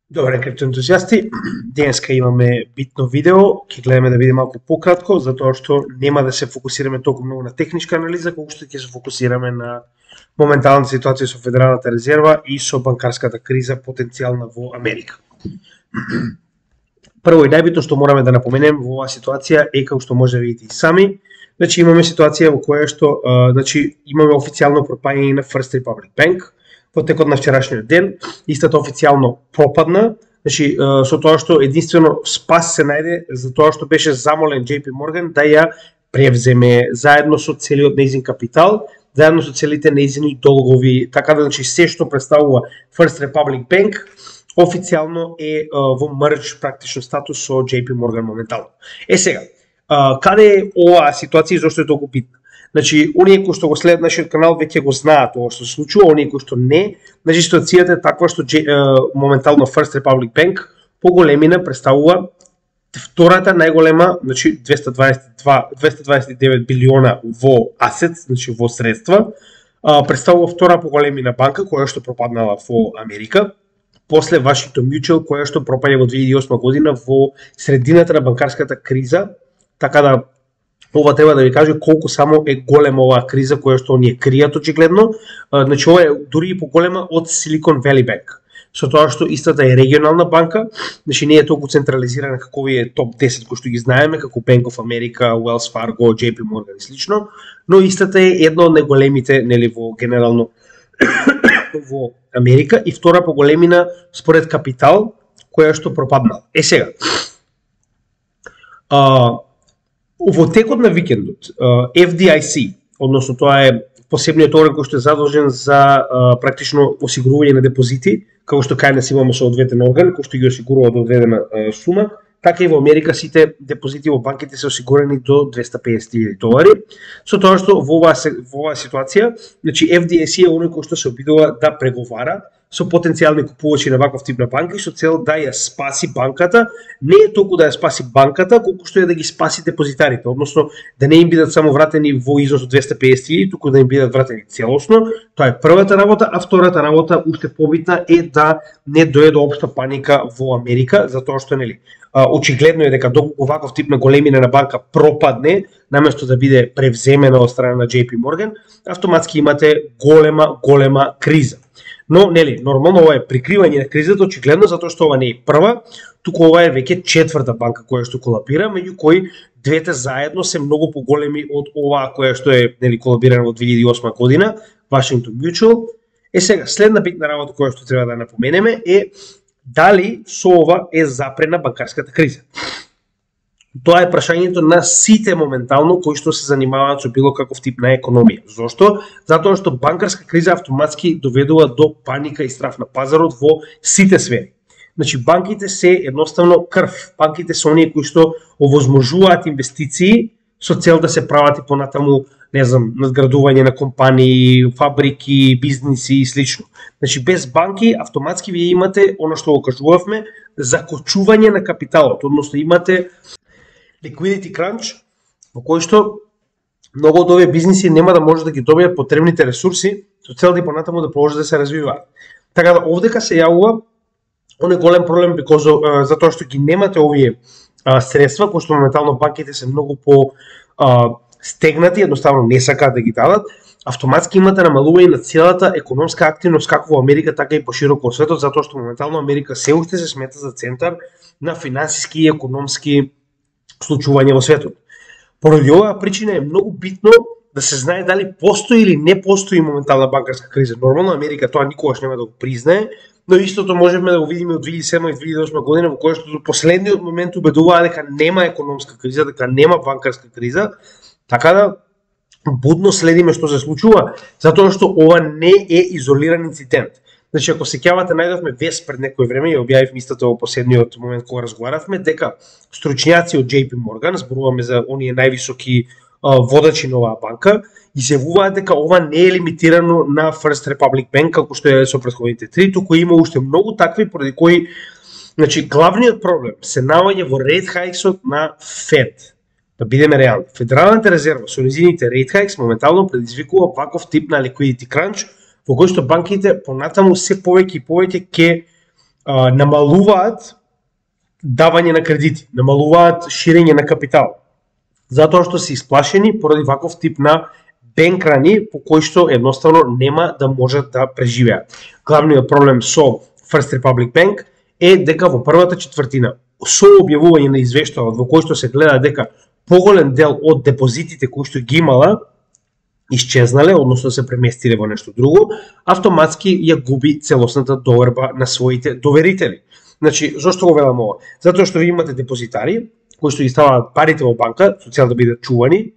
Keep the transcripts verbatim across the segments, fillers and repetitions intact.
Добре, криптоентузијасти, денеска имаме битно видео, ќе гледаме да биде малку пократко, затоа што нема да се фокусираме толку многу на техничка анализа, колку што ќе се фокусираме на моменталната ситуација со Федералната резерва и со банкарската криза потенцијална во Америка. Прво и најбитно што мораме да напоменем во оваа ситуација е, како што може да видите и сами, значи имаме ситуација во која што а, значи имаме официјално пропаѓање на First Republic Bank. Во текот на вчерашниот ден, истата официјално пропадна, значи со тоа што единствено спас се најде за тоа што беше замолен J P Morgan да ја превземе заедно со целиот нејзин капитал, заедно со целите нејзини долгови, така да значи се што представува First Republic Bank официјално е во мрж практично статус со J P Morgan моментално. Е сега, каде е оваа ситуација и зошто е толку битна? Значи, оние кои што го следат нашиот канал веќе го знаат ова што се случува, оние кои што не, значи ситуацијата е таква што е, моментално First Republic Bank по големина представува втората најголема, значи двеста дваесет и два двеста дваесет и девет билиона во асет, значи во средства, а, представува втора по големина банка која што пропаднала во Америка, после Washington Mutual која што пропаѓа во две илјади и осма година во средината на банкарската криза, така да ова треба да ви каже колку само е голема оваа криза која што оние кријат очигледно. Значи ова е дури и поголема од Silicon Valley Bank. Со тоа што истата е регионална банка, значи не е толку централизирана како овие топ десет кои што ги знаеме, како Bank of America, Wells Fargo, J P Morgan и слично, но истата е една од најголемите, нели, во генерално во Америка и втора по големина според капитал која што пропаднала. Е сега, а, во текот на викендот, F D I C, односно тоа е посебниот орган кој што е задолжен за практично осигурување на депозити, како што кај нас имаме со одветен орган, кој што ги осигурува до одредена сума, така и во Америка сите депозити во банките се осигурени до двеста песет илјади долари. Со тоа што во оваа, во оваа ситуација, значи F D I C е оној кој што се обидува да преговара со потенцијални купувачи на ваков тип на банки со цел да ја спаси банката, не е толку да ја спаси банката, колку што е да ги спаси депозитарите, односно да не им бидат само вратени во износ од двеста песет илјади, туку да им бидат вратени целосно. Тоа е првата работа, а втората работа, уште побитна, е да не дојде до општа паника во Америка, затоа што нели очигледно е дека доколку ваков тип на големина на банка пропадне, наместо да биде превземена од страна на J P Morgan, автоматски имате голема, голема криза. Но, нели, нормално ова е прикривање на кризата, очигледно, затоа што ова не е прва, туку ова е веќе четврта банка која што колапира, меѓу кои двете заедно се многу поголеми од оваа која што е, нели, колабирана во две илјади и осма година, Washington Mutual. Е сега, следна битна работа која што треба да напоменеме е дали со ова е запрена банкарската криза. Тоа е прашањето на сите моментално кои што се занимаваат со било каков тип на економија. Зошто? Затоа што банкарска криза автоматски доведува до паника и страф на пазарот во сите сфери. Значи банките се едноставно крв. Банките се оние кои што овозможуваат инвестиции со цел да се прават и понатаму, не знам, надградување на компании, фабрики, бизниси и слично. Значи без банки автоматски вие имате она што го кажувавме, закочување на капиталот, односно имате liquidity crunch, во кој што многу од овие бизниси нема да може да ги добијат потребните ресурси со цел да и понатаму да продолжат да се развиваат. Така да овдека се јавува оној голем проблем because, uh, затоа што ги немате овие uh, средства, кои што моментално банките се многу по uh, стегнати, едноставно не сакаат да ги дадат, автоматски имате намалување на целата економска активност како во Америка, така и пошироко во светот, затоа што моментално Америка се уште се смета за центар на финансиски и економски случување во светот. Поради оваа причина е многу битно да се знае дали постои или не постои моментална банкарска криза. Нормално Америка тоа никогаш нема да го признае, но истото можеме да го видиме од две илјади и седма и две илјади и осма година, во која што до последниот момент убедуваа дека нема економска криза, дека нема банкарска криза, така да будно следиме што се случува, затоа што ова не е изолиран инцидент. Значи, ако сеќавате, најдовме вест пред некој време и објавивме истото во последниот момент кога разговаравме, дека стручњаци од J P Morgan, зборуваме за оние највисоки а, водачи на оваа банка, изјавуваат дека ова не е лимитирано на First Republic Bank, како што е со претходните три, туку има уште многу такви, поради кои, значи, главниот проблем се наоѓа во rate hikes-от на Fed. Да бидеме реални. Федералната резерва со низините rate hikes моментално предизвикува ваков тип на liquidity crunch, во кој што банките понатаму се повеќе и повеќе ќе а, намалуваат давање на кредити, намалуваат ширење на капитал, затоа што се исплашени поради ваков тип на бенкрани по кои што едноставно нема да можат да преживеат. Главниот проблем со First Republic Bank е дека во првата четвртина со објавување на извештајот во кој што се гледа дека поголем дел од депозитите кои што ги имала исчезнале, односно се преместиле во нешто друго, автоматски ја губи целосната доверба на своите доверители. Значи, зошто го велам ова? Затоа што ви имате депозитари кои што ги ставаат парите во банка со цел да бидат чувани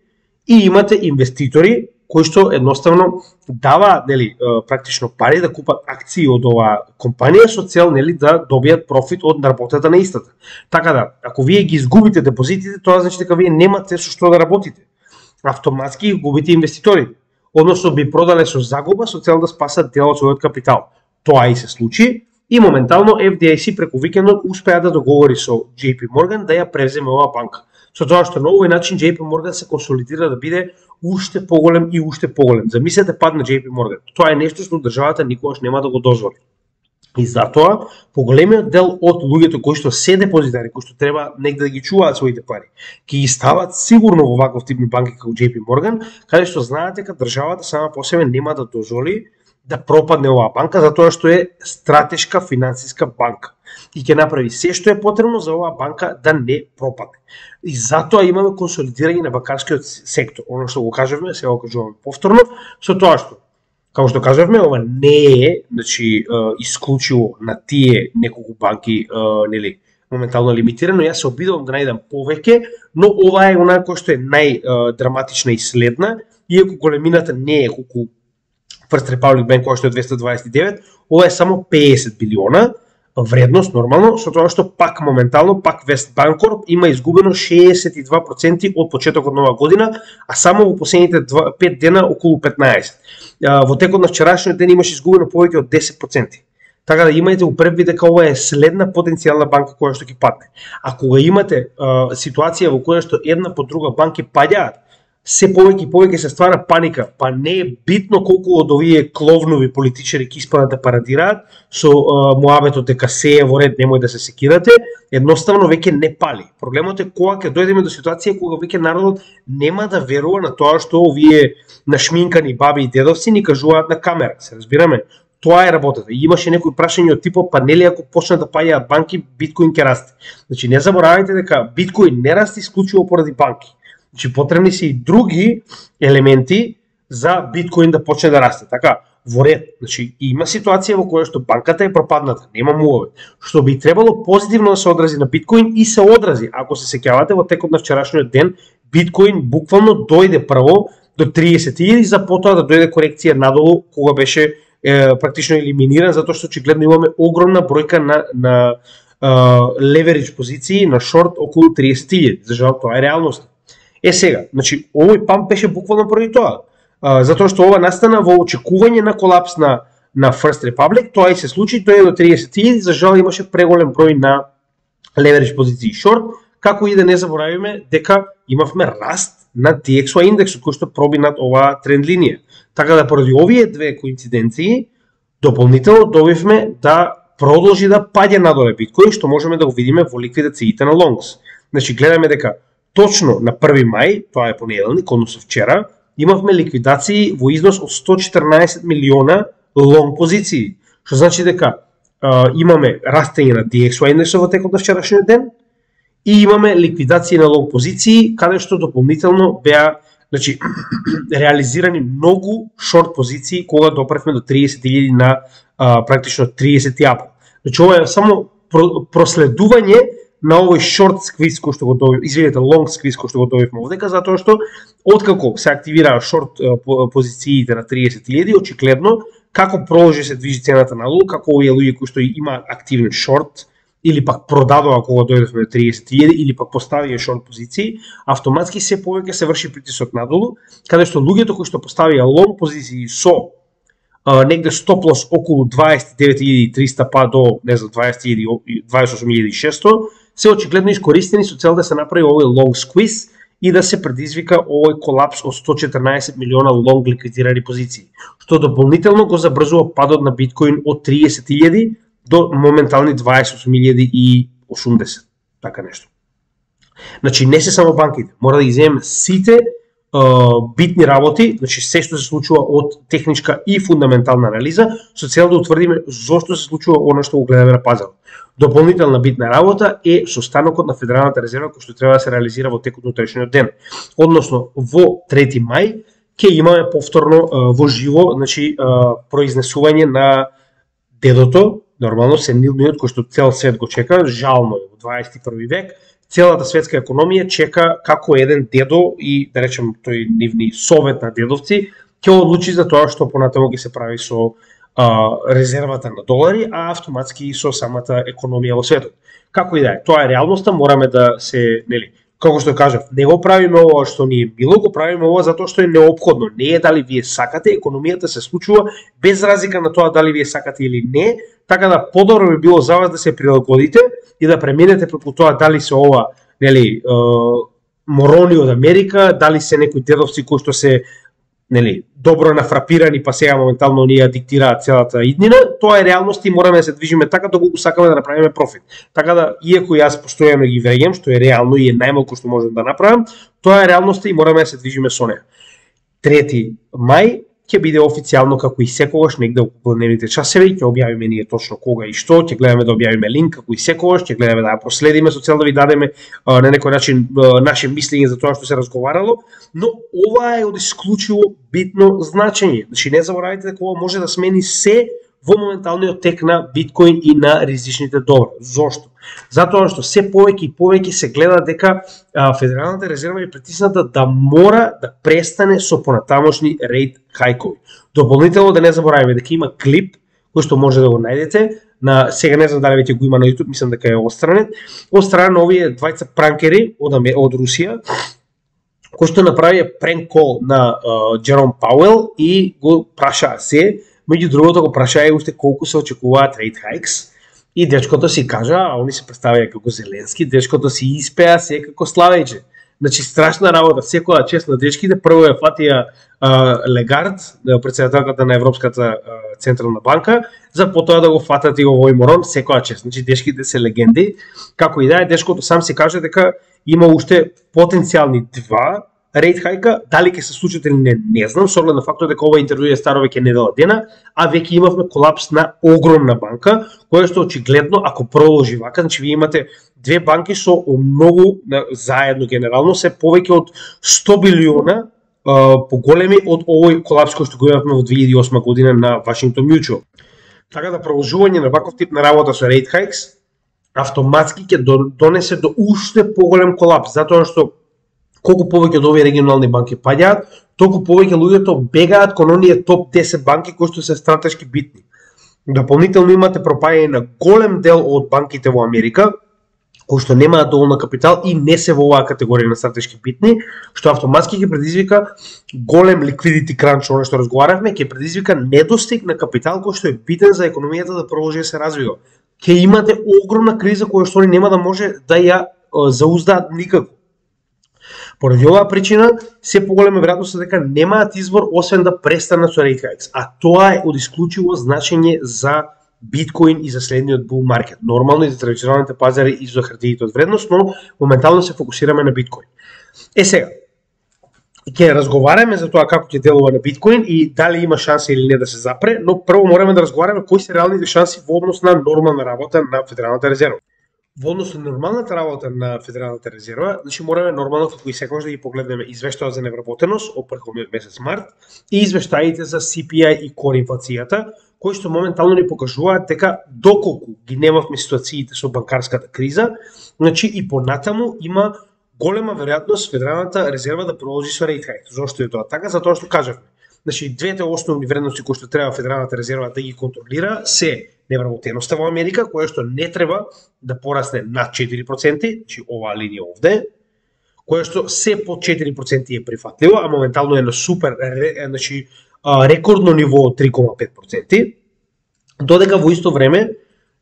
и имате инвеститори кои што едноставно даваат, нели, практично пари да купат акции од оваа компанија со цел, нели, да добијат профит од работата на истата. Така да, ако вие ги изгубите депозитите, тоа значи дека вие немате со што да работите. Автоматски губите инвеститори, односно би продале со загуба со цел да спасат дел од својот капитал. Тоа и се случи и моментално Еф Ди Ај Си преку викендот успеа да договори со Џеј Пи Морган да ја превземе оваа банка. Со тоа што на овој начин Џеј Пи Морган се консолидира да биде уште поголем и уште поголем. Замислете пад на Џеј Пи Морган. Тоа е нешто што државата никогаш нема да го дозволи. И затоа поголемиот дел од луѓето кои што се депозитари, кои што треба негде да ги чуваат своите пари, ќе ги стават сигурно во ваков тип банки како Џеј Пи Морган, каде што знаат дека државата сама по себе нема да дозволи да пропадне оваа банка, затоа што е стратешка финансиска банка и ќе направи се што е потребно за оваа банка да не пропадне. И затоа имаме консолидирање на банкарскиот сектор. Оно што го кажавме, сега го кажуваме повторно, со тоа што, како што кажавме, ова не е, значи, исклучиво на тие неколку банки, нели, моментално лимитирано. Јас се обидувам да најдам повеќе, но ова е она кој што е најдраматична и следна, иако големината не е колку First Republic Bank кој што е двеста дваесет и девет, ова е само педесет билиона вредност нормално, со тоа што пак моментално пак Вестбанкорп има изгубено шеесет и два проценти од почетокот на оваа година, а само во последните пет дена околу петнаесет. Во текот на вчерашниот ден имаше изгубено повеќе од десет проценти. Така да имајте у прв вид дека ова е следна потенцијална банка која што ќе падне. А кога имате а, ситуација во која што една по друга банки паѓаат, се повеќе и повеќе се ствара паника, па не е битно колку од овие кловнови политичари ќе испадат да парадираат со а, муабетот дека се е во ред, немој да се секирате, едноставно веќе не пали. Проблемот е кога ќе дојдеме до ситуација кога веќе народот нема да верува на тоа што овие нашминкани баби и дедовци ни кажуваат на камера, се разбираме. Тоа е работата. И имаше некои прашања од типот, па нели ако почнат да паѓаат банки, биткоин ќе расте. Значи не заборавајте дека биткоин не расте исклучиво поради банки. Значи потребни се и други елементи за биткоин да почне да расте. Така, во ред. Значи има ситуација во која што банката е пропадната, нема муаве, што би требало позитивно да се одрази на биткоин и се одрази. Ако се сеќавате во текот на вчерашниот ден, биткоин буквално дојде прво до триесет илјади, за потоа да дојде корекција надолу кога беше е, практично елиминиран, затоа што очигледно имаме огромна бројка на на леверидж позиции на шорт околу триесет илјади. За жал тоа е реалност. Е сега, значи овој памп беше буквално поради тоа. А, затоа што ова настана во очекување на колапс на на First Republic, тоа и се случи, тоа е до триесет илјади, за жал имаше преголем број на leverage позиции шорт, како и да не заборавиме дека имавме раст на Ди Екс Уај индексот кој што проби над оваа тренд линија. Така да поради овие две коинциденции дополнително добивме да продолжи да паѓа надоле биткоин, што можеме да го видиме во ликвидациите на лонгс. Значи гледаме дека точно на први мај, тоа е понеделник, односно вчера, имавме ликвидации во износ од сто четрнаесет милиона лонг позиции, што значи дека а, имаме растење на Ди Екс Уај индексот во текот на вчерашниот ден и имаме ликвидации на лонг позиции, каде што дополнително беа, значи, реализирани многу шорт позиции кога допревме до триесет илјади на а, практично тридесети април. Значи ова е само проследување на овој шорт сквиз кој што го добивме, извинете, лонг сквиз кој што го добивме овдека, затоа што откако се активираа шорт позициите на тридесет илјади, очигледно како продолжи се движи цената надолу, како овие луѓе кои што има активен шорт или пак продадува кога дојдовме до триесет илјади или пак поставија шорт позиции, автоматски се повеќе се врши притисок надолу, каде што луѓето кои што поставија лонг позиции со Uh, негде стоп лос околу дваесет и девет илјади триста па до, не знам, дваесет илјади, дваесет и осум илјади и шеста, се очигледно искористени со цел да се направи овој лонг сквиз и да се предизвика овој колапс од сто четрнаесет милиона лонг ликвидирани позиции, што дополнително го забрзува падот на биткоин од тридесет илјади до моментални дваесет и осум илјади и осумдесет, така нешто. Значи не се само банките, мора да ги земеме сите uh, битни работи, значи се што се случува од техничка и фундаментална анализа, со цел да утврдиме зошто се случува она што го гледаме на пазарот. Дополнителна битна работа е состанокот на Федералната резерва кој што треба да се реализира во текот на утрешниот ден. Односно во трети мај ќе имаме повторно uh, во живо, значи uh, произнесување на дедото, нормално сенилниот кој што цел свет го чека, жално е во дваесет и први век. Целата светска економија чека како еден дедо и, да речем, тој нивни совет на дедовци ќе одлучи за тоа што понатаму ќе се прави со а, резервата на долари, а автоматски и со самата економија во светот. Како и да е, тоа е реалноста, мораме да се, нели, како што кажав, не го правиме ова што ни е било, го правиме ова затоа што е неопходно. Не е дали вие сакате, економијата се случува без разлика на тоа дали вие сакате или не, така да подобро би било за вас да се прилагодите и да преминете преку тоа дали се ова, нели, е, морони од Америка, дали се некои дедовци кои што се, нели, добро нафрапирани, па сега моментално ние диктираат целата иднина, тоа е реалност и мораме да се движиме така доколку сакаме да направиме профит. Така да, иако јас постојано ги веѓам, што е реално и е најмалку што можем да направам, тоа е реалноста и мораме да се движиме со неа. трети мај ќе биде официјално како и секогаш негде околу дневните часови, ќе објавиме ние точно кога и што, ќе гледаме да објавиме линк како и секогаш, ќе гледаме да ја проследиме со цел да ви дадеме а, на некој начин а, наше мислење за тоа што се разговарало, но ова е од исклучиво битно значење. Значи не заборавајте дека ова може да смени се во моменталниот тек на биткоин и на ризичните добра. Зошто? Затоа што се повеќе и повеќе се гледа дека а, Федералната резерва е притисната да мора да престане со понатамошни рейт хајкови. Дополнително да не забораваме дека има клип кој што може да го најдете, на сега не знам дали веќе го има на YouTube, мислам дека е отстранет, од страна на овие двајца пранкери од од Русија, кој што направи пренк кол на Джером Пауел и го праша се, меѓу другото го праша и уште колку се очекуваат рейт хајкс. И дечкото си кажа, а они се представија како Зеленски, дечкото си испеа се како Славејче. Значи страшна работа, секоја чест на дечките, прво ја фатија Легард, претседателката на Европската а, централна банка, за потоа да го фатат и овој морон, секоја чест. Значи дечките се легенди. Како и да е, дечкото сам си каже дека има уште потенцијални два рейт хајка, дали ќе се случат или не, не знам, со оглед на фактот дека ова интервју е старо веќе недела дена, а веќе имавме колапс на огромна банка, која што очигледно ако продолжи вака, значи вие имате две банки со многу заедно генерално се повеќе од сто билиона uh, поголеми од овој колапс кој што го имавме во две илјади и осма година на Washington Mutual. Така да продолжување на ваков тип на работа со рейт хајкс автоматски ќе донесе до уште поголем колапс, затоа што колку повеќе од овие регионални банки паѓаат, толку повеќе луѓето бегаат кон оние топ десет банки кои што се стратешки битни. Дополнително имате пропаѓање на голем дел од банките во Америка, кои што немаат доволно капитал и не се во оваа категорија на стратешки битни, што автоматски ќе предизвика голем liquidity crunch, она што разговаравме, ќе предизвика недостиг на капитал кој што е битен за економијата да продолжи да се развива. Ќе имате огромна криза која што нема да може да ја зауздаат никако. Поради оваа причина, се поголема веројатност дека немаат избор освен да престанат со рейт хајкс, а тоа е од исклучиво значење за биткоин и за следниот бул маркет. Нормално и за традиционалните пазари и за хартиите од вредност, но моментално се фокусираме на биткоин. Е сега, ќе разговараме за тоа како ќе делува на биткоин и дали има шанси или не да се запре, но прво мораме да разговараме кои се реалните шанси во однос на нормална работа на Федералната резерва. Во однос на нормалната работа на Федералната резерва, значи мораме нормално како и секогаш да ги погледнеме извештајот за невработеност од претходниот месец март и извештаите за Си Пи Ај и кор инфлацијата, кои што моментално ни покажуваат дека доколку ги немавме ситуациите со банкарската криза, значи и понатаму има голема веројатност Федералната резерва да продолжи со рейт хајк. Зошто е тоа така? Затоа што кажавме. Значи двете основни вредности кои што треба Федералната резерва да ги контролира се невработеноста во Америка, која што не треба да порасне над четири проценти, значи оваа линија овде, која што се под четири проценти е прифатливо, а моментално е на супер, значи рекордно ниво од три кома пет проценти, додека во исто време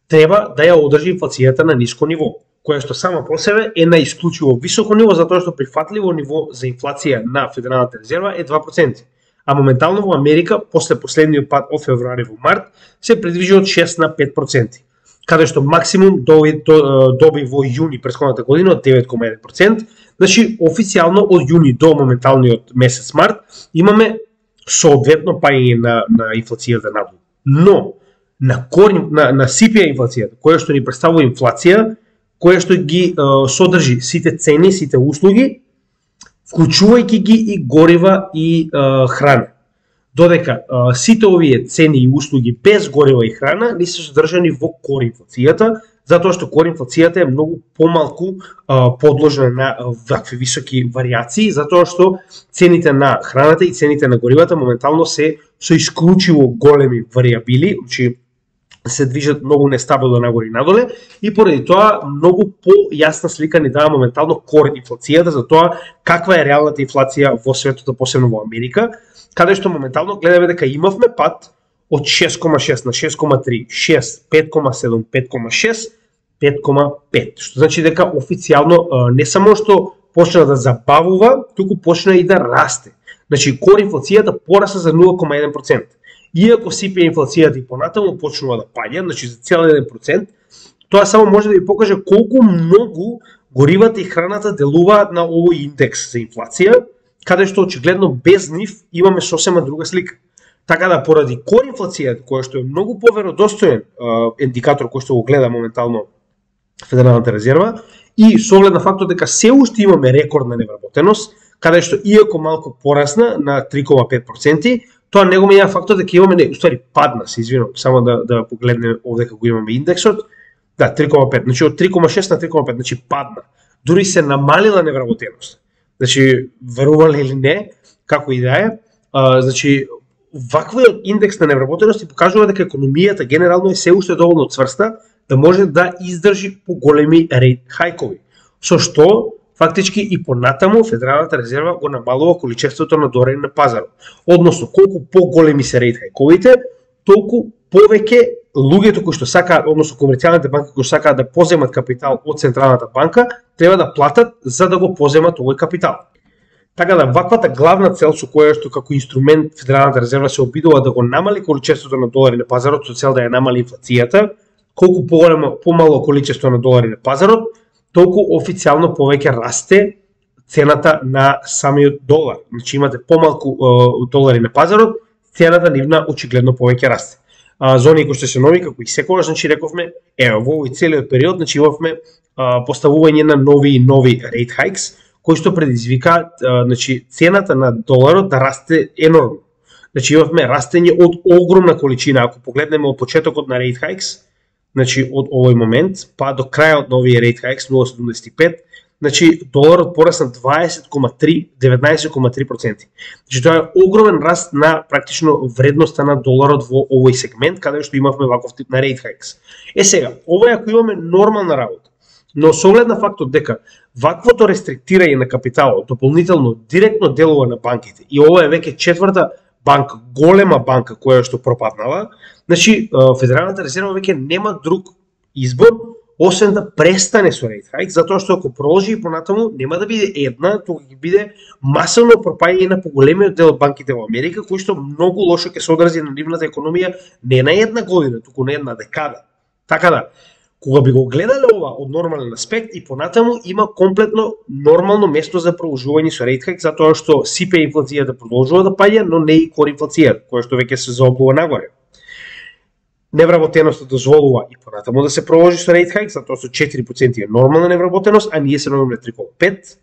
треба да ја одржи инфлацијата на ниско ниво, која што само по себе е на исклучиво високо ниво, затоа што прифатливо ниво за инфлација на Федералната резерва е два проценти. А моментално во Америка, после последниот пат од февруари во март, се придвижи од шест на пет проценти. каде што максимум доби, доби во јуни претходната година од девет кoma еден проценти. Значи, официјално од јуни до моменталниот месец март имаме соодветно паѓање на, на инфлацијата надолу. Но, на, корен, на, на си пи ај инфлацијата, која што ни представува инфлација, која што ги е, содржи сите цени, сите услуги, вклучувајќи ги и горива и е, храна. Додека е, сите овие цени и услуги без горива и храна не се содржани во кор инфлацијата, затоа што кор инфлацијата е многу помалку а, подложена на вакви високи варијации, затоа што цените на храната и цените на горивата моментално се со исклучиво големи варијабили, значи се движат многу нестабилно нагоре и надоле, и поради тоа многу појасна слика ни дава моментално кор инфлацијата за тоа каква е реалната инфлација во светот, посебно во Америка, каде што моментално гледаме дека имавме пат од шест кoma шест на шест кoma три, шест, пет кoma седум, пет кoma шест, пет кoma пет, што значи дека официјално не само што почна да забавува, туку почна и да расте. Значи кор инфлацијата порасна за нула кoma еден проценти. Иако си пи ај инфлацијата и понатаму почнува да паѓа, значи за цел еден процент, тоа само може да ви покаже колку многу горивата и храната делуваат на овој индекс за инфлација, каде што очигледно без нив имаме сосема друга слика. Така да поради кор инфлацијата, која што е многу поверодостоен индикатор кој што го гледа моментално Федералната резерва, и со оглед на фактот дека се уште имаме рекордна невработеност, каде што иако малку порасна на три кoma пет проценти, тоа не го менја фактот дека имаме, не, уствари падна, се извинувам, само да да погледнеме овде како имаме индексот, да, три кoma пет, значи од три кoma шест на три кoma пет, значи падна. Дури се намалила невработеност. Значи, верували или не, како и да е, а, значи, ваквиот индекс на невработеност покажува дека економијата генерално е се уште доволно цврста да може да издржи поголеми рейт хајкови. Со што, фактички и понатаму Федералната резерва го намалува количеството на долари на пазарот. Односно, колку поголеми се рейт хајковите, толку повеќе луѓето кои што сакаат, односно комерцијалните банки кои што сакаат да поземат капитал од Централната банка, треба да платат за да го поземат овој капитал. Така да, ваквата главна цел со која што како инструмент Федералната резерва се обидува да го намали количеството на долари на пазарот со цел да ја намали инфлацијата, колку поголемо, помало количество на долари на пазарот, толку официјално повеќе расте цената на самиот долар. Значи имате помалку е, долари на пазарот, цената нивна очигледно повеќе расте. А, зони кои што се нови, како и секогаш, значи рековме, ево, во овој целиот период, значи имавме а, поставување на нови и нови rate hikes, кои што предизвика значи цената на доларот да расте енормно. Значи имавме растење од огромна количина, ако погледнеме од почетокот на rate hikes, значи од овој момент па до крајот на овие rate hikes нула кoma седумдесет и пет, значи доларот порасна дваесет кoma три, деветнаесет кoma три проценти. Значи тоа е огромен раст на практично вредноста на доларот во овој сегмент каде што имавме ваков тип на rate hikes. Е сега, ова е ако имаме нормална работа. Но со оглед на фактот дека ваквото рестриктирање на капиталот дополнително директно делува на банките и ова е веќе четврта банка, голема банка која што пропаднала, значи Федералната резерва веќе нема друг избор освен да престане со рейт хајк, затоа што ако продолжи и понатаму нема да биде една, туку ќе биде масовно пропаѓање на поголемиот дел од банките во Америка, кои што многу лошо ќе се одрази на нивната економија не на една година, туку на една декада. Така да, кога би го гледале ова од нормален аспект и понатаму има комплетно нормално место за продолжување со рейт хајк, затоа што си пи ај инфлацијата продолжува да паѓа, но не и кор инфлацијата, која што веќе се заоблува нагоре. Невработеноста дозволува и понатаму да се продолжи со рейт хајк, затоа што четири проценти е нормална невработеност, а ние се наоѓаме на три кoma пет.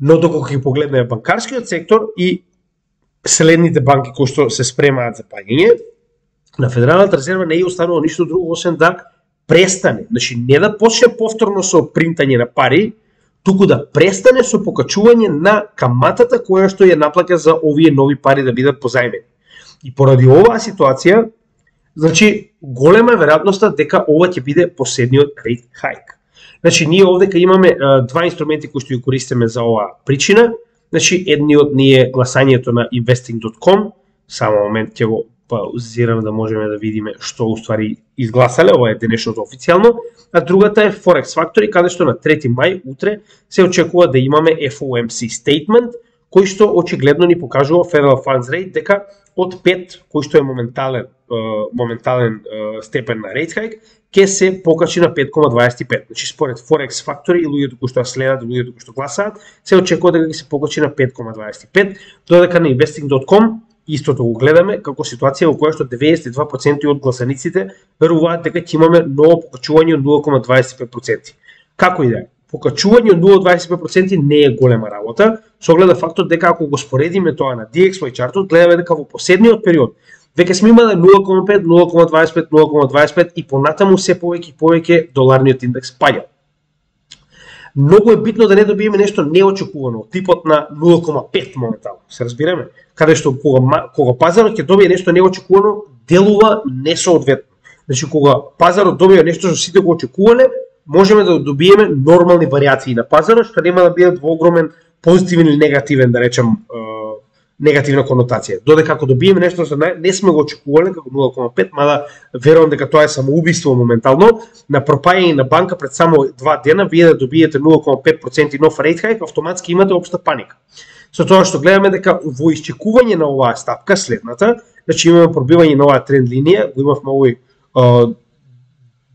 Но доколку ќе погледнеме банкарскиот сектор и следните банки кои што се спремаат за паѓање, на Федералната резерва не е останало ништо друго освен да престане, значи не да почне повторно со принтање на пари, туку да престане со покачување на каматата која што ја наплаќа за овие нови пари да бидат позајмени. И поради оваа ситуација, значи голема е веројатноста дека ова ќе биде последниот рейт хајк. Значи ние овде имаме а, два инструменти кои што ги користиме за оваа причина. Значи едниот ни е гласањето на investing dot com, само момент ќе го паузирам да можеме да видиме што уствари изгласале, ова е денешното официјално, а другата е Forex Factory, каде што на трети мај утре се очекува да имаме F O M C statement, кој што очигледно ни покажува Federal Funds Rate дека од пет, кој што е моментален моментален степен на rate hike, ќе се покачи на пет кома дваесет и пет. Значи според Forex Factory и луѓето кои што следат, луѓето кои што гласаат, се очекува дека ќе се покачи на пет кома дваесет и пет, додека на investing dot com истото го гледаме како ситуација во која што деветдесет и два проценти од гласаниците веруваат дека ќе имаме ново покачување од нула кома дваесет и пет проценти. Како и да е, покачување од нула кома дваесет и пет проценти не е голема работа, со оглед на фактот дека ако го споредиме тоа на ди екс уај чартот, гледаме дека во последниот период веќе сме имале нула кома пет, нула кома дваесет и пет, нула кома дваесет и пет и понатаму се повеќе и повеќе доларниот индекс паѓа. Многу е битно да не добиеме нешто неочекувано, типот на нула кома пет моментално, се разбираме, каде што кога, кога пазарот ќе добие нешто неочекувано, делува несоодветно. Значи кога пазарот добие нешто што сите го очекувале, можеме да добиеме нормални варијации на пазарот, што нема да бидат во огромен позитивен или негативен, да речем, негативна конотација. Додека ако добиеме нешто што не сме го очекувале како нула кома пет, мада верувам дека тоа е самоубиство моментално, на пропаѓање на банка пред само два дена, вие да добиете нула кома пет проценти нов рейт хајк, автоматски имате општа паника. Со тоа што гледаме дека во исчекување на оваа стапка следната, значи имаме пробивање на оваа тренд линија, го имавме овој а,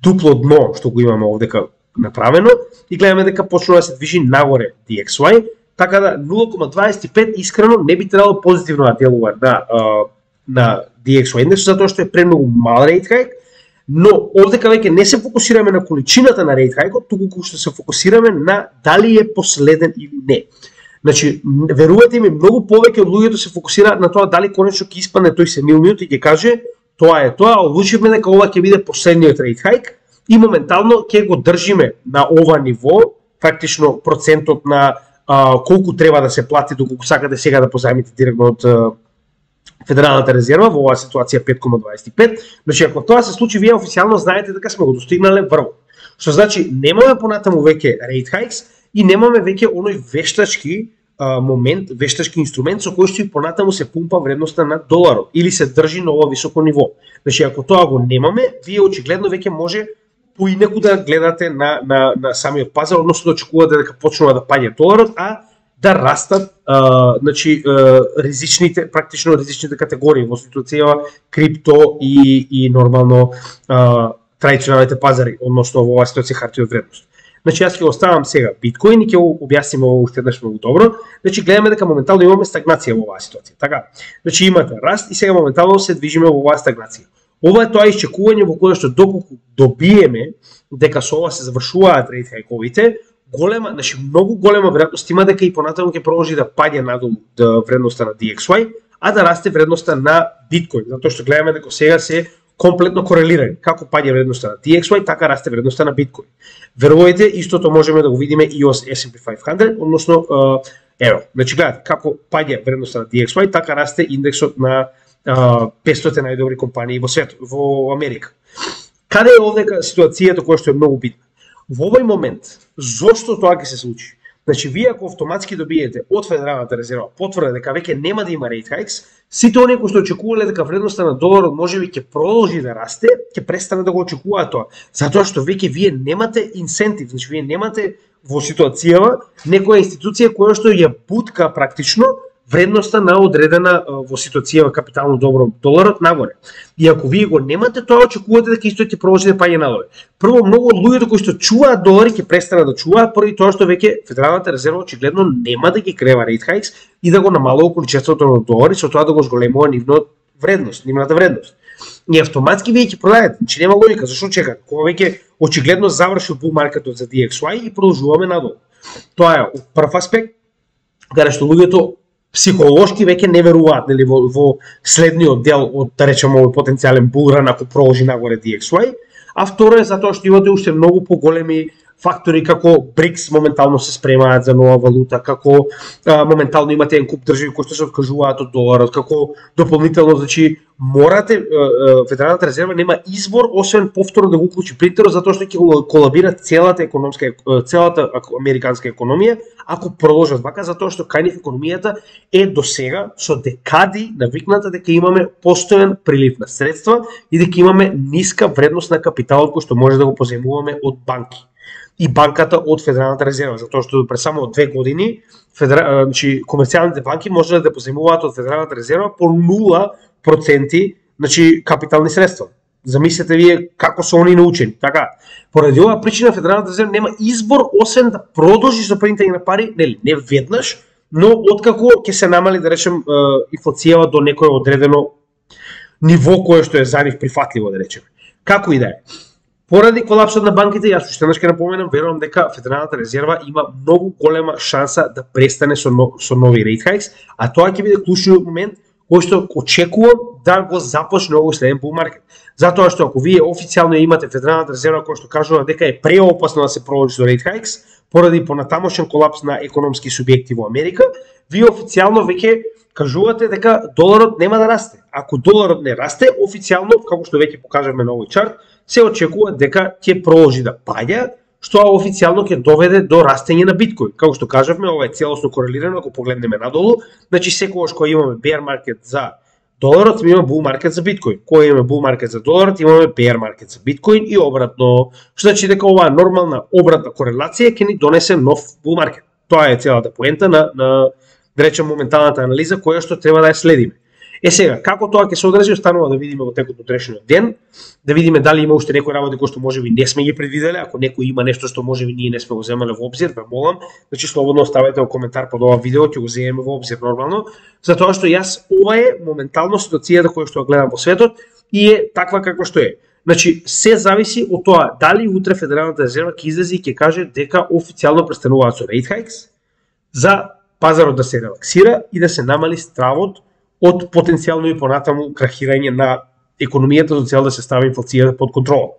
дупло дно што го имаме овдека направено и гледаме дека почнува да се движи нагоре ди екс уај. Така да нула кома дваесет и пет искрено не би требало позитивно да делува на, на ди екс уај индекс, затоа што е премногу мал рейт хајк, но овдека веќе не се фокусираме на количината на рейт хајкот, туку што се фокусираме на дали е последен или не. Значи, верувате ми, многу повеќе од луѓето се фокусираат на тоа дали конечно ќе испадне тој сенилниот и ќе каже тоа е тоа, одлучивме дека ова ќе биде последниот рейт хајк и моментално ќе го држиме на ова ниво, фактично процентот на а, колку треба да се плати доколку сакате сега да позајмите директно од а, Федералната резерва во оваа ситуација пет кома дваесет и пет. Значи ако тоа се случи, вие официјално знаете дека сме го достигнале врвот. Што значи немаме понатаму веќе рейт хајкс и немаме веќе оној вештачки а, момент, вештачки инструмент со кој што и понатаму се пумпа вредноста на доларот или се држи на ова високо ниво. Значи ако тоа го немаме, вие очигледно веќе може поинеку да гледате на, на, на самиот пазар, односно да очекувате дека почнува да паѓа доларот, а да растат а, значи, а, ризичните, практично ризичните категории во ситуација крипто и, и нормално а, традиционалните пазари, односно во оваа ситуација хартија од вредност. Значи јас ќе оставам сега биткоин и ќе го објасниме ово уште еднаш многу добро. Значи гледаме дека моментално имаме стагнација во оваа ситуација. Така, значи имате раст и сега моментално се движиме во оваа стагнација. Ова е тоа исчекување во кое што доколку добиеме дека со ова се завршуваат рейт хајковите, голема, значи многу голема веројатност има дека и понатаму ќе продолжи да паѓа надолу да вредноста на ди екс уај, а да расте вредноста на биткоин, затоа што гледаме дека сега се комплетно корелирани. Како паѓа вредноста на ди екс уај, така расте вредноста на биткоин. Верувајте, истото можеме да го видиме и од ес енд пи петстотини, односно ево, значи гледате како паѓа вредноста на ди екс уај, така расте индексот на петстотини најдобри компании во светот, во Америка. Каде е овдека ситуацијата која што е многу битна? Во овој момент, зошто тоа ќе се случи? Значи, вие ако автоматски добиете од Федералната резерва потврда дека веќе нема да има рейт хајкс, сите оние кои што очекувале дека вредноста на доларот можеби ќе продолжи да расте, ќе престане да го очекуваат тоа, затоа што веќе вие немате инсентив, значи вие немате во ситуацијава некоја институција која што ја бутка практично вредноста на одредена во ситуација капитално добро доларот нагоре. И ако вие го немате, тоа очекувате дека исто ќе продолжи да паѓа надоле. Прво, многу од луѓето кои што чуваат долари ќе престанат да чуваат поради тоа што веќе Федералната резерва очигледно нема да ги крева рейт хајкс и да го намалува количеството на долари со тоа да го зголемува нивната вредност, нивната вредност. И автоматски вие ќе продајате, значи нема логика, зашто чекате? Кога веќе очигледно завршил бул маркетот за ди екс уај и продолжуваме надолу. Тоа е прв аспект каде што луѓето психолошки веќе не веруваат нели во, во следниот дел од да речеме овој потенцијален булран ако продолжи нагоре ди екс уај, а второ е затоа што имате уште многу поголеми фактори како БРИКС моментално се спремаат за нова валута, како а, моментално имате еден куп држави кои што се откажуваат од доларот, како дополнително, значи морате а, Федералната резерва нема избор освен повторно да го уклучи принтерот затоа што ќе колабира целата економска целата американска економија ако продолжат вака, затоа што кај нив економијата е досега со декади навикната дека имаме постојан прилив на средства и дека имаме ниска вредност на капиталот кој што може да го позајмуваме од банки и банката од Федералната резерва, затоа што пред само две години федера... значи, комерцијалните банки можеле да позајмуваат од Федералната резерва по нула проценти, значи капитални средства. Замислете вие како се они научени. Така, поради оваа причина Федералната резерва нема избор освен да продолжи со принтање на пари, нели, не веднаш, но откако ќе се намали, да речем, инфлацијава до некое одредено ниво кое што е за нив прифатливо, да речеме. Како и да е. Поради колапсот на банките, јас уште еднаш ќе напоменам, верувам дека Федералната резерва има многу голема шанса да престане со, но, со нови rate hikes, а тоа ќе биде клучниот момент кој што очекувам да го започне овој следен bull market. Затоа што ако вие официјално имате Федералната резерва кој што кажува дека е преопасно да се продолжи со rate hikes поради понатамошен колапс на економски субјекти во Америка, вие официјално веќе кажувате дека доларот нема да расте. Ако доларот не расте, официјално, како што веќе покажавме на овој чарт, се очекува дека ќе продолжи да паѓа, што официјално ќе доведе до растење на биткоин. Како што кажавме, ова е целосно корелирано, ако погледнеме надолу, значи секогаш кога имаме bear market за доларот, имаме bull market за биткоин. Кога имаме bull market за доларот, имаме bear market за биткоин и обратно. Што значи дека оваа нормална обратна корелација ќе ни донесе нов bull market. Тоа е целата поента на, на да речем моменталната анализа која што треба да ја следиме. Е сега, како тоа ќе се одрази, останува да видиме во текот на утрешниот ден, да видиме дали има уште некои работи кои што можеби не сме ги предвиделе, ако некој има нешто што можеби ние не сме го земале во обзир, ве молам, значи слободно оставете во коментар под ова видео, ќе го земеме во обзир нормално, затоа што јас ова е моментално ситуацијата која што ја гледам во светот и е таква каква што е. Значи, се зависи од тоа дали утре Федералната резерва ќе излезе и ќе каже дека официјално престануваат со rate hikes за пазарот да се релаксира и да се намали стравот од потенцијално и понатаму крахирање на економијата за цел да се стави инфлацијата под контрола.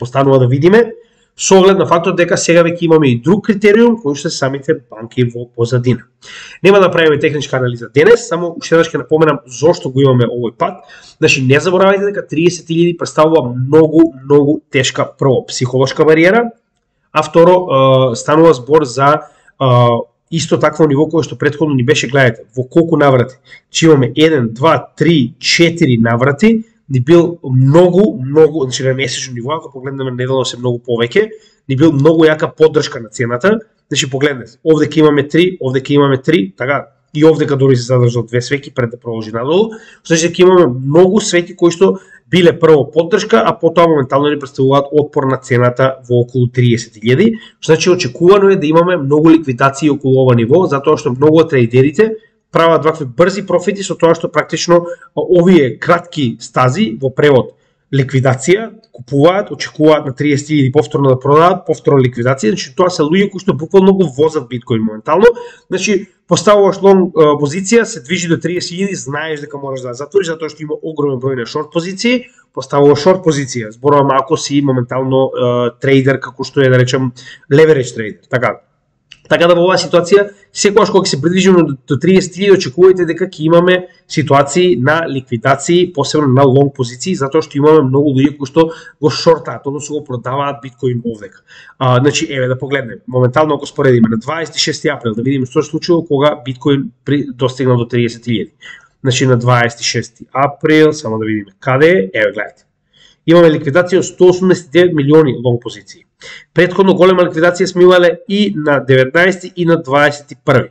Останува да видиме со оглед на фактот дека сега веќе имаме и друг критериум кој што се самите банки во позадина. Нема да правиме техничка анализа денес, само уште еднаш ќе напоменам зошто го имаме овој пат. Значи не заборавајте дека триесет илјади представува многу многу тешка прво психолошка бариера, а второ станува збор за исто такво ниво кое што претходно ни беше, гледате, во колку наврати. Че имаме еден, два, три, четири наврати, ни бил многу, многу, значи на месечно ниво, ако погледнеме неделно се многу повеќе, ни бил многу јака поддршка на цената. Значи погледнете, овде ќе имаме три, овде ќе имаме три, така, и овде кај дори се задржал две свеќи пред да продолжи надолу. Значи ќе имаме многу свеќи кои што биле прво поддршка, а потоа моментално ни представуваат отпор на цената во околу триесет илјади. Значи очекувано е да имаме многу ликвидации околу ова ниво, затоа што многу од трейдерите прават вакви брзи профити со тоа што практично овие кратки стази во превод ликвидација купуваат, очекуваат на триесет илјади повторно да продадат, повторно ликвидација, значи тоа се луѓе кои што буквално го возат биткоин моментално. Значи поставуваш лонг позиција, се движи до триесет илјади, знаеш дека можеш да затвориш затоа што има огромен број на шорт позиции, поставуваш шорт позиција. Зборувам ако си моментално uh, трейдер како што е да речем leverage трейдер, така. Така да во оваа ситуација, секогаш кога се придвижиме до триесет илјади, очекувајте дека ќе имаме ситуации на ликвидации, посебно на лонг позиции, затоа што имаме многу луѓе кои што го шортаат, односно го продаваат биткоин овдека. А, значи, еве да погледнеме, моментално ако споредиме на дваесет и шести април, да видиме што се случило кога биткоин при, достигнал до триесет илјади. Значи на дваесет и шести април, само да видиме каде е, еве гледате. Имаме ликвидација од сто осумдесет и девет милиони лонг позиции. Предходно голема ликвидација сме имале и на деветнаесети и на дваесет и први.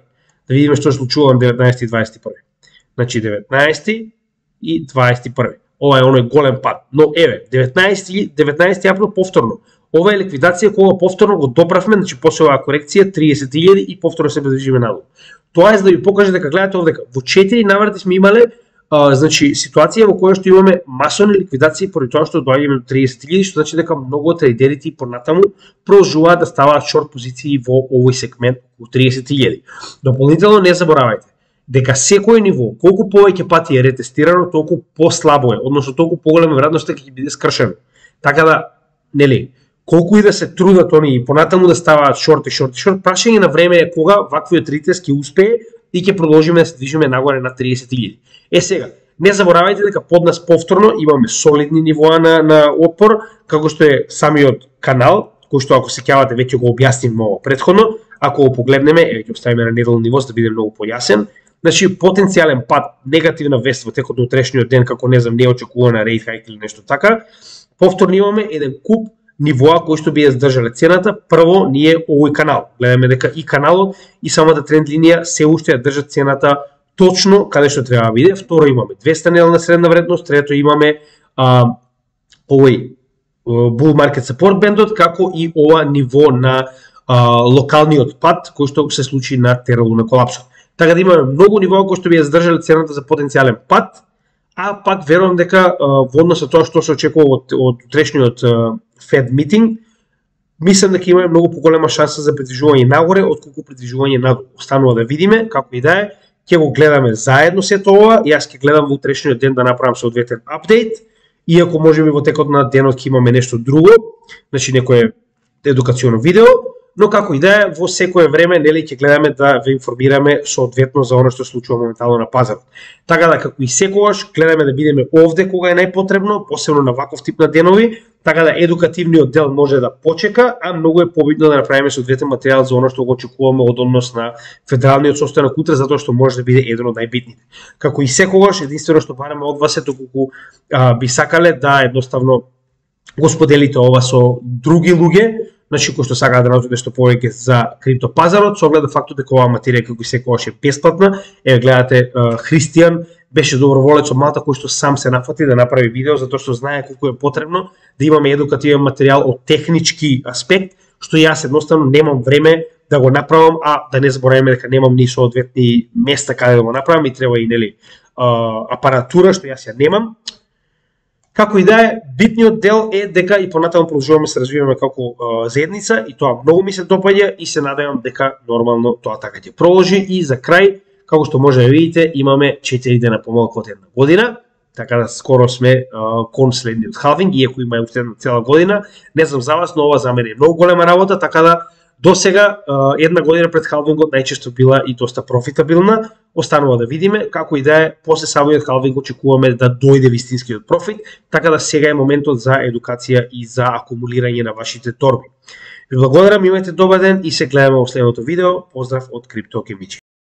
Да видиме што се случува на деветнаесети и дваесет и први. Значи деветнаесети и дваесет и први. Ова е оној голем пат. Но еве, деветнаесети април повторно. Ова е ликвидација кога повторно го доправме, значи после оваа корекција триесет илјади и повторно се движиме надолу. Тоа е за да ви покаже дека гледате овдека во четири наврати сме имале Uh, значи ситуација во која што имаме масовни ликвидации поради тоа што доаѓаме до триесет илјади, што значи дека многу од трейдерите и понатаму продолжуваат да ставаат шорт позиции во овој сегмент во триесет илјади. Дополнително не заборавајте дека секој ниво, колку повеќе пати е ретестирано, толку послабо е, односно толку поголема веројатност дека ќе биде скршено. Така да, нели, колку и да се трудат они и понатаму да ставаат шорт и шорт и шорт, прашање на време е кога ваквиот ретест ќе успее и ќе продолжиме да се движиме нагоре на триесет илјади. Е сега, не заборавајте дека под нас повторно имаме солидни нивоа на, на отпор, како што е самиот канал, кој што ако сеќавате веќе го објаснив ова предходно, ако го погледнеме, еве ќе оставиме на неделно ниво за да биде многу појасен. Значи потенцијален пат, негативна вест во текот на утрешниот ден, како не знам, неочекувана rate hike или нешто така. Повторно имаме еден куп нивоа кои што би ја здржале цената. Прво ние овој канал. Гледаме дека и каналот и самата тренд линија се уште ја држат цената точно каде што треба да биде. Второ, имаме двеста неделна средна вредност, трето имаме а, овој Bull Market Support бендот, како и ова ниво на а, локалниот пат кој што се случи на Terra Luna колапсот. Така да имаме многу нивоа кои што би ја задржале цената за потенцијален пат, а пак верувам дека а, во однос на тоа што се очекува од, од утрешниот Fed meeting, мислам дека имаме многу поголема шанса за придвижување нагоре отколку придвижување надолу. Останува да видиме, како и да е, ќе го гледаме заедно сето ова, и јас ќе гледам во утрешниот ден да направам соодветен апдейт. Иако можеби во текот на денот ќе имаме нешто друго, значи некое едукацијно видео, но како и да е, во секое време нели ќе гледаме да ве информираме соодветно за она што се случува моментално на пазарот. Така да, како и секогаш, гледаме да бидеме овде кога е најпотребно, посебно на ваков тип на денови, така да едукативниот дел може да почека, а многу е побитно да направиме соодветен материјал за она што го очекуваме од однос на федералниот состанок утре, затоа што може да биде еден од најбитните. Како и секогаш, единствено што бараме од вас е доколку а, би сакале да едноставно го споделите ова со други луѓе, значи кои што сакаат да научат нешто повеќе за криптопазарот, со оглед на фактот дека оваа материја како и секогаш е бесплатна. Еве гледате, Христијан беше доброволец од Малта кој што сам се нафати да направи видео затоа што знае колку е потребно да имаме едукативен материјал од технички аспект, што јас едноставно немам време да го направам, а да не забораваме дека немам ни соодветни места каде да го направам и треба и нели апаратура што јас ја немам. Како и да е, битниот дел е дека и понатаму продолжуваме се развиваме како а, заедница и тоа многу ми се допаѓа и се надевам дека нормално тоа така ќе продолжи. И за крај, како што може да видите, имаме четири дена помалку од една година, така да скоро сме а, кон следниот халвинг, иако има уште една цела година. Не знам за вас, но ова за мене е многу голема работа, така да до сега една година пред халвингот најчесто била и доста профитабилна. Останува да видиме, како и да е, после самиот халвинг очекуваме да дојде вистинскиот профит, така да сега е моментот за едукација и за акумулирање на вашите торби. Ви благодарам, имајте добар ден и се гледаме во следното видео. Поздрав од Крипто Кемичи.